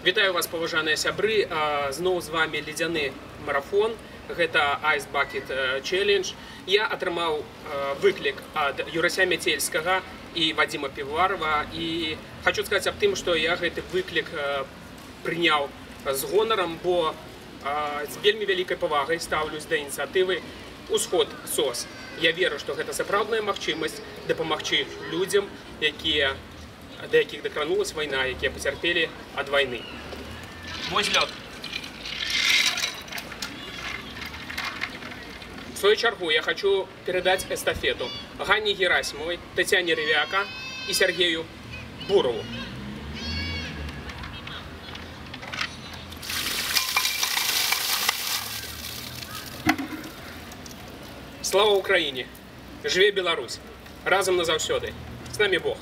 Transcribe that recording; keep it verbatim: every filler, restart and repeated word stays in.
Вітаю вас, паважаныя сябры. Зноў з вами ледзяны марафон. Гэта Ice Bucket Challenge. Я атрымаў выклік ад Юрася Мяцельскага і Вадзіма Півоварова. І хочу сказаць аб тым, што я гэты выклік прыняў з гонарам, бо з вельмі вялікай павагай стаўлюсь да ініцыятывы «Усход СОС». Я веру, што гэта сапраўдная магчымасць дапамагчы людзям, якія да якіх дакранулась вайна, якія пацярпелі ад вайны. Вось лёд. В свою чаргу я хочу передать эстафету Ганне Герасимовой, Татьяне Ревяка и Сергею Бурову. Слава Украине! Жыве Беларусь! Разом назаўсёды! С нами Бог!